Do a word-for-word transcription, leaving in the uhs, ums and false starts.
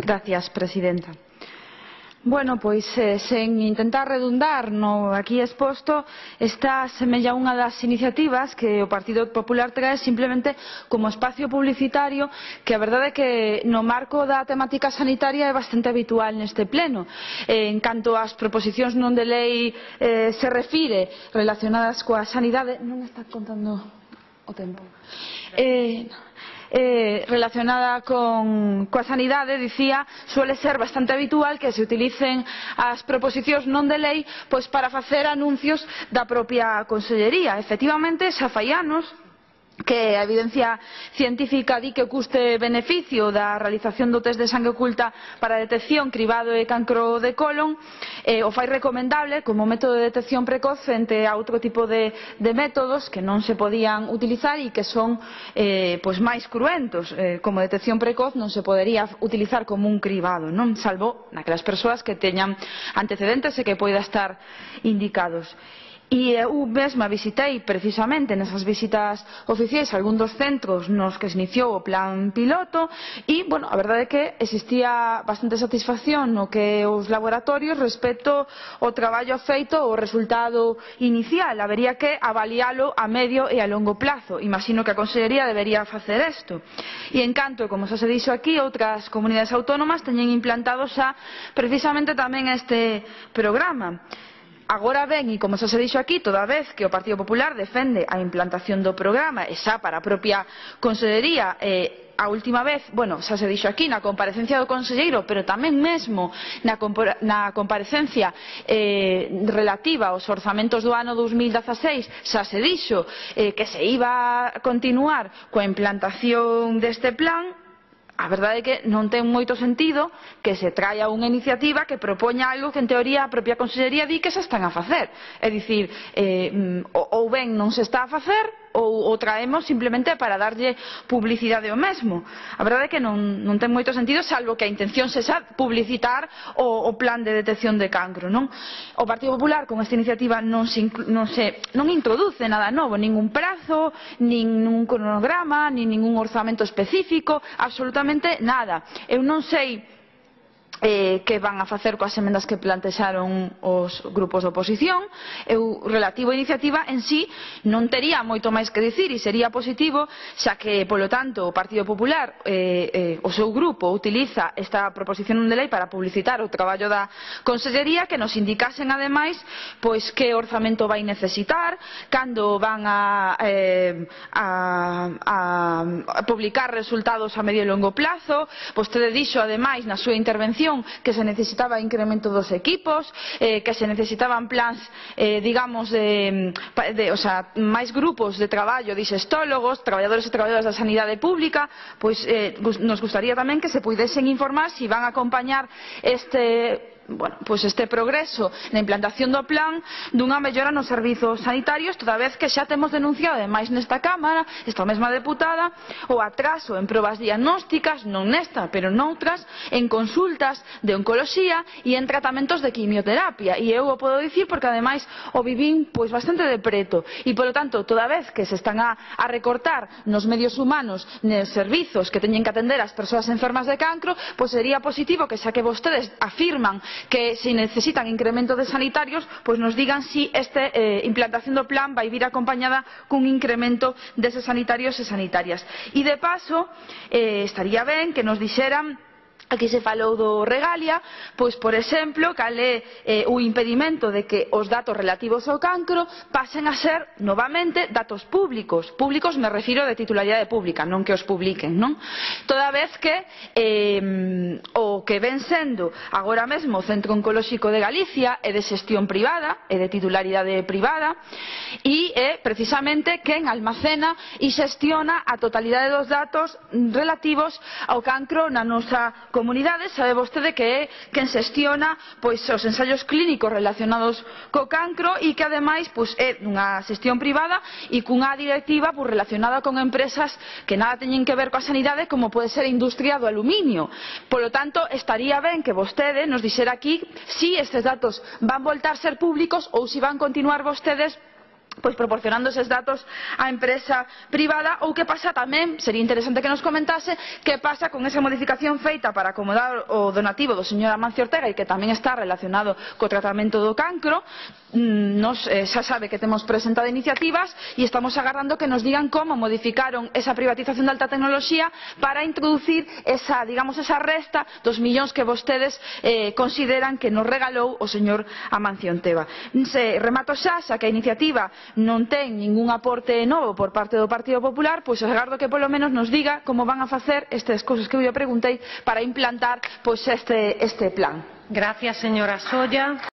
Gracias, presidenta. Bueno, pois, eh, sen intentar redundar no aquí exposto, esta semella unha das iniciativas que o Partido Popular trae simplemente como espacio publicitario, que a verdade é que no marco da temática sanitaria é bastante habitual neste pleno. Eh, en canto ás proposicións non de lei eh, se refire relacionadas coa sanidade, non está contando o tempo. Eh, Eh, relacionada con coa sanidade, dicía, suele ser bastante habitual que se utilicen as proposicións non de lei pois para facer anuncios da propia Consellería. Efectivamente, xa fai anos que a evidencia científica di que o custe-beneficio da realización do test de sangue oculta para a detección cribado e cancro de colon eh, o fai recomendable como método de detección precoz frente a outro tipo de, de métodos que non se podían utilizar e que son eh, pois máis cruentos. Eh, como detección precoz non se podería utilizar como un cribado, non? Salvo naquelas persoas que teñan antecedentes e que poida estar indicados. E eu mesma visitei precisamente nesas visitas oficiais algún dos centros nos que se iniciou o plan piloto e, bueno, a verdade é que existía bastante satisfacción no que os laboratorios respecto ao traballo feito o resultado inicial. Habería que avalialo a medio e a longo plazo. Imagino que a Consellería debería facer isto. E en canto, como xa se dixo aquí, outras comunidades autónomas teñen implantado xa precisamente tamén este programa. Agora ben, e como xa se dixo aquí, toda vez que o Partido Popular defende a implantación do programa e xa para a propia Consellería, eh, a última vez, bueno, xa se dixo aquí na comparecencia do conselleiro, pero tamén mesmo na, na comparecencia eh, relativa aos orzamentos do ano dos mil dezaseis, xa se dixo eh, que se iba a continuar coa implantación deste plan. A verdade é que non ten moito sentido que se traia unha iniciativa que propoña algo que en teoría a propia Consellería di que se están a facer. É dicir, eh, ou ben non se está a facer ou o traemos simplemente para darlle publicidade ao mesmo. A verdade é que non, non ten moito sentido, salvo que a intención sexa publicitar o, o plan de detección de cancro, non? O Partido Popular con esta iniciativa non se, non se non introduce nada novo, ningún prazo, ningún cronograma, nin ningún orzamento específico, absolutamente nada. Eu non sei Eh, que van a facer coas emendas que plantexaron os grupos de oposición. Eu, relativo á iniciativa en sí, non tería moito máis que dicir e sería positivo, xa que, polo tanto, o Partido Popular, eh, eh, o seu grupo, utiliza esta proposición non de lei para publicitar o traballo da Consellería, que nos indicasen, ademais, pois que orzamento vai necesitar, cando van a, eh, a, a, a publicar resultados a medio e longo plazo. Vostede dixo, ademais, na súa intervención, que se necesitaba incremento dos equipos, eh, que se necesitaban plans, eh, digamos, de, de, o sea, máis grupos de traballo, dixestólogos, traballadores e traballadoras da sanidade pública. Pois eh, nos gustaría tamén que se puidesen informar se van a acompañar este bueno, pois este progreso na implantación do plan dunha mellora nos servizos sanitarios, toda vez que xa temos denunciado ademais nesta Cámara, esta mesma deputada, o atraso en probas diagnósticas, non nesta, pero noutras, en consultas de oncoloxía e en tratamentos de quimioterapia. E eu o podo dicir porque ademais o vivín pois bastante de preto. E polo tanto, toda vez que se están a, a recortar nos medios humanos, nos servizos que teñen que atender as persoas enfermas de cancro, pois sería positivo que xa que vostedes afirman que se necesitan incremento de sanitarios, pois nos digan si esta eh, implantación do plan vai vir acompañada cun incremento deses sanitarios e sanitarias. E de paso, eh, estaría ben que nos dixeran, aquí se falou do Regalia, pois, por exemplo, cal é eh, o impedimento de que os datos relativos ao cancro pasen a ser, novamente, datos públicos. Públicos me refiro de titularidade pública, non que os publiquen, non? Toda vez que eh, o que ven sendo agora mesmo o Centro Oncolóxico de Galicia é de xestión privada, é de titularidade privada, e é precisamente quen almacena e xestiona a totalidade dos datos relativos ao cancro na nosa comunidade. Comunidade. Sabe vostede que é quen xestiona pois, os ensaios clínicos relacionados co cancro e que ademais pois, é unha xestión privada e cunha directiva pois, relacionada con empresas que nada teñen que ver coa sanidade, como pode ser a industria do aluminio. Polo tanto, estaría ben que vostede nos dixera aquí si estes datos van voltar a ser públicos ou si van continuar vostedes pois proporcionando eses datos á empresa privada, ou que pasa tamén, sería interesante que nos comentase, que pasa con esa modificación feita para acomodar o donativo do señor Amancio Ortega e que tamén está relacionado co tratamento do cancro. Nos, eh, xa sabe que temos presentado iniciativas e estamos agardando que nos digan como modificaron esa privatización de alta tecnoloxía para introducir esa, digamos, esa resta dos millóns que vostedes eh, consideran que nos regalou o señor Amancio Ortega. Se remato xa, xa que a iniciativa non ten ningún aporte novo por parte do Partido Popular, pois agardo que polo menos nos diga como van a facer estas cousas que eu lle preguntei para implantar pois este, este plan. Gracias, señora Solla.